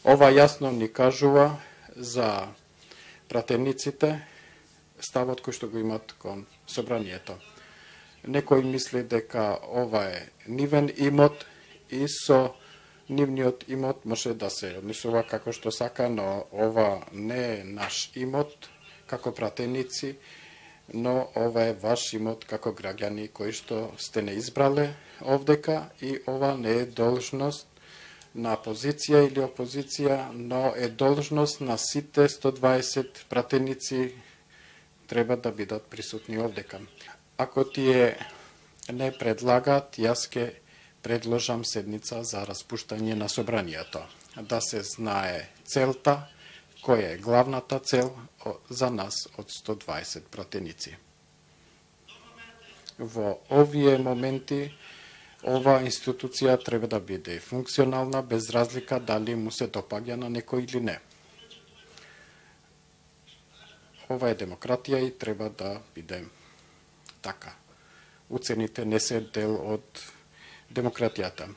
Ова јасно ни кажува за пратениците ставот кој што го имат кон собранието. Некој мисли дека ова е нивен имот и со нивниот имот може да се однесува како што сака, но ова не е наш имот како пратеници, но ова е ваш имот како граѓани кои што сте не избрале овдека и ова не е должност на позиција или опозиција, но е должност на сите 120 пратеници треба да бидат присутни овдека. Ако тие не предлагат, јас ке предложам седница за распуштање на собранието. Да се знае целта, која е главната цел за нас од 120 пратеници. Во овие моменти, ова институција треба да биде функционална, без разлика дали му се допаѓа на некој или не. Ова е демократија и треба да биде така. Уцените не се дел од демократијата.